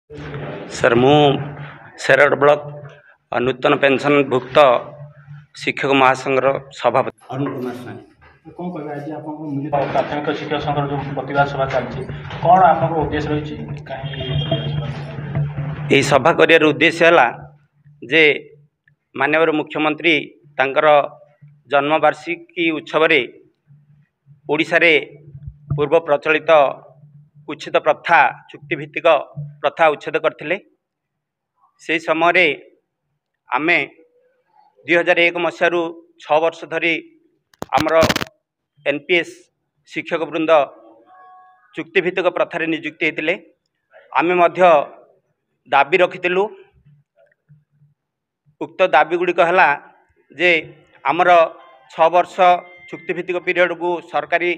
Sir, ମୁଁ Shergarh block ନୂତନ ପେନ୍ସନ୍ଭୁକ୍ତ ଶିକ୍ଷକ ମହାସଂଘର ସଭାପତି ଅରୁଣ କୁମାର ସ୍ୱାଇଁ। କ'ଣ କହିବେ, ଆଜି ଆପଣଙ୍କ ମିଳିତ ପ୍ରାଥମିକ ଶିକ୍ଷକ ସଂଘର ଯେଉଁ ପ୍ରତିବାଦ ସଭା ଚାଲିଛି, କ'ଣ ଆପଣଙ୍କ ଉଦ୍ଦେଶ୍ୟ ରହିଛି, କାହିଁକି ଏହି ସଭା କରିବାର ଉଦ୍ଦେଶ୍ୟ ହେଲା ଯେ ମାନ୍ୟବର ମୁଖ୍ୟମନ୍ତ୍ରୀ ତାଙ୍କର ଜନ୍ମବାର୍ଷିକୀ ଉତ୍ସବରେ ଓଡ଼ିଶାରେ ପୂର୍ବ ପ୍ରଚଳିତ କୁତ୍ସିତ ପ୍ରଥା, ଚୁକ୍ତିଭିତ୍ତିକ ପ୍ରଥା ଉଚ୍ଛେଦ କରିଥିଲେ। ସେହି ସମୟରେ ଆମେ 2001 ମସିହାରୁ 6 ବର୍ଷ ଧରି ଆମର ଏନ୍ ପି ଏସ୍ ଶିକ୍ଷକ ବୃନ୍ଦ ଚୁକ୍ତିଭିତ୍ତିକ ପ୍ରଥାରେ ନିଯୁକ୍ତି ହୋଇଥିଲେ। ଆମେ ମଧ୍ୟ ଦାବି ରଖିଥିଲୁ। ଉକ୍ତ ଦାବି ଗୁଡ଼ିକ ହେଲା ଯେ ଆମର 6 ବର୍ଷ ଚୁକ୍ତିଭିତ୍ତିକ ପିରିୟଡ଼କୁ ସରକାରୀ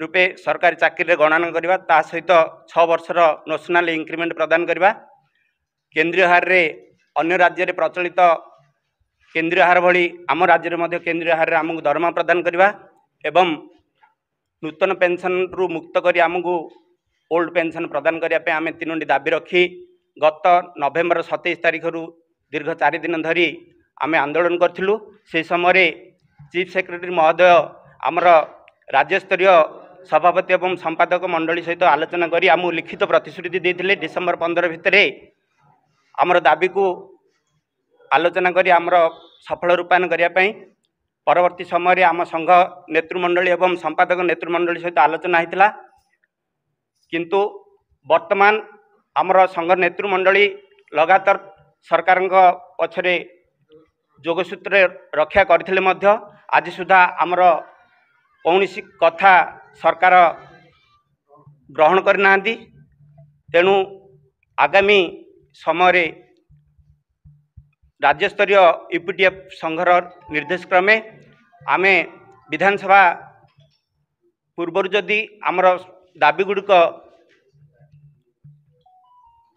ରୂପେ ସରକାରୀ ଚାକିରିରେ ଗଣନା କରିବା, ତା ସହିତ 6 ବର୍ଷର ନୋସନାଲ୍ ଇନକ୍ରିମେଣ୍ଟ ପ୍ରଦାନ କରିବା, କେନ୍ଦ୍ରୀୟ ହାରରେ ଅନ୍ୟ ରାଜ୍ୟରେ ପ୍ରଚଳିତ କେନ୍ଦ୍ରୀୟ ହାର ଭଳି ଆମ ରାଜ୍ୟରେ ମଧ୍ୟ କେନ୍ଦ୍ରୀୟ ହାରରେ ଆମକୁ ଦରମା ପ୍ରଦାନ କରିବା ଏବଂ ନୂତନ ପେନ୍ସନ୍ରୁ ମୁକ୍ତ କରି ଆମକୁ ଓଲ୍ଡ ପେନ୍ସନ୍ ପ୍ରଦାନ କରିବା ପାଇଁ ଆମେ 3ଟି ଦାବି ରଖି ଗତ ନଭେମ୍ବର 27 ତାରିଖରୁ ଦୀର୍ଘ 4 ଦିନ ଧରି ଆମେ ଆନ୍ଦୋଳନ କରିଥିଲୁ। ସେହି ସମୟରେ ଚିଫ୍ ସେକ୍ରେଟାରୀ ମହୋଦୟ ଆମର ରାଜ୍ୟସ୍ତରୀୟ ସଭାପତି ଏବଂ ସମ୍ପାଦକ ମଣ୍ଡଳୀ ସହିତ ଆଲୋଚନା କରି ଆମକୁ ଲିଖିତ ପ୍ରତିଶ୍ରୁତି ଦେଇଥିଲେ, ଡିସେମ୍ବର 15 ଭିତରେ ଆମର ଦାବିକୁ ଆଲୋଚନା କରି ଆମର ସଫଳ ରୂପାୟନ କରିବା ପାଇଁ। ପରବର୍ତ୍ତୀ ସମୟରେ ଆମ ସଂଘ ନେତୃମଣ୍ଡଳୀ ଏବଂ ସମ୍ପାଦକ ନେତୃମଣ୍ଡଳୀ ସହିତ ଆଲୋଚନା ହୋଇଥିଲା, କିନ୍ତୁ ବର୍ତ୍ତମାନ ଆମର ସଂଘ ନେତୃମଣ୍ଡଳୀ ଲଗାତାର ସରକାରଙ୍କ ପଛରେ ଯୋଗସୂତ୍ରରେ ରକ୍ଷା କରିଥିଲେ ମଧ୍ୟ ଆଜି ସୁଦ୍ଧା ଆମର କୌଣସି କଥା ସରକାର ଗ୍ରହଣ କରିନାହାନ୍ତି। ତେଣୁ ଆଗାମୀ ସମୟରେ ରାଜ୍ୟସ୍ତରୀୟ ୟୁ ପି ଟି ଏଫ୍ ସଂଘର ନିର୍ଦ୍ଦେଶ କ୍ରମେ ଆମେ ବିଧାନସଭା ପୂର୍ବରୁ ଯଦି ଆମର ଦାବି ଗୁଡ଼ିକ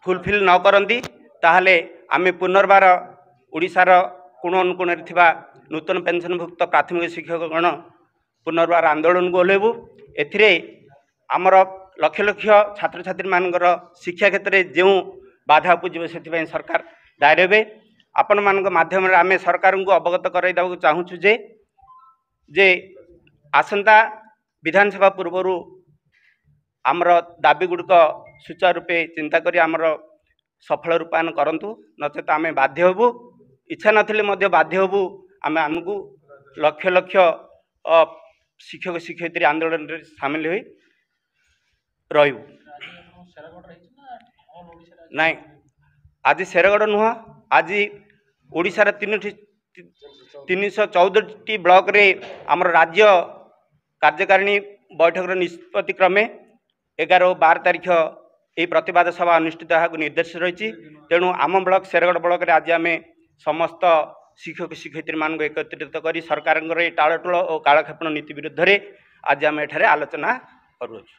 ଫୁଲଫିଲ୍ ନ କରନ୍ତି, ତାହେଲେ ଆମେ ପୁନର୍ବାର ଓଡ଼ିଶାର କୋଣ ଅନୁକୋଣରେ ଥିବା ନୂତନ ପେନ୍ସନ୍ଭୁକ୍ତ ପ୍ରାଥମିକ ଶିକ୍ଷକଗଣ ପୁନର୍ବାର ଆନ୍ଦୋଳନକୁ ଓହ୍ଲାଇବୁ। ଏଥିରେ ଆମର ଲକ୍ଷ ଲକ୍ଷ ଛାତ୍ରଛାତ୍ରୀମାନଙ୍କର ଶିକ୍ଷା କ୍ଷେତ୍ରରେ ଯେଉଁ ବାଧା ଉପୁଜିବ, ସେଥିପାଇଁ ସରକାର ଦାୟୀ ହେବେ। ଆପଣମାନଙ୍କ ମାଧ୍ୟମରେ ଆମେ ସରକାରଙ୍କୁ ଅବଗତ କରାଇ ଦେବାକୁ ଚାହୁଁଛୁ ଯେ ଆସନ୍ତା ବିଧାନସଭା ପୂର୍ବରୁ ଆମର ଦାବି ଗୁଡ଼ିକ ସୁଚାରୁ ରୂପେ ଚିନ୍ତା କରି ଆମର ସଫଳ ରୂପାୟନ କରନ୍ତୁ, ନଚେତ ଆମେ ବାଧ୍ୟ ହେବୁ, ଇଚ୍ଛା ନଥିଲେ ମଧ୍ୟ ବାଧ୍ୟ ହେବୁ ଆମେ ଆମକୁ ଲକ୍ଷ ଲକ୍ଷ ଶିକ୍ଷକ ଶିକ୍ଷୟିତ୍ରୀ ଆନ୍ଦୋଳନରେ ସାମିଲ ହୋଇ ରହିବୁ। ନାଇଁ, ଆଜି ଶେରଗଡ଼ ନୁହଁ, ଆଜି ଓଡ଼ିଶାର 3ଟି 314ଟି ବ୍ଲକରେ ଆମର ରାଜ୍ୟ କାର୍ଯ୍ୟକାରିଣୀ ବୈଠକର ନିଷ୍ପତ୍ତି କ୍ରମେ 11 ଓ 12 ତାରିଖ ଏହି ପ୍ରତିବାଦ ସଭା ଅନୁଷ୍ଠିତ ହେବାକୁ ନିର୍ଦ୍ଦେଶ ରହିଛି। ତେଣୁ ଆମ ବ୍ଲକ ଶେରଗଡ଼ ବ୍ଲକରେ ଆଜି ଆମେ ସମସ୍ତ ଶିକ୍ଷକ ଶିକ୍ଷୟିତ୍ରୀମାନଙ୍କୁ ଏକତ୍ରିତ କରି ସରକାରଙ୍କର ଏହି ଟାଳଟୁଳ ଓ କାଳକ୍ଷେପଣ ନୀତି ବିରୁଦ୍ଧରେ ଆଜି ଆମେ ଏଠାରେ ଆଲୋଚନା କରୁଅଛୁ।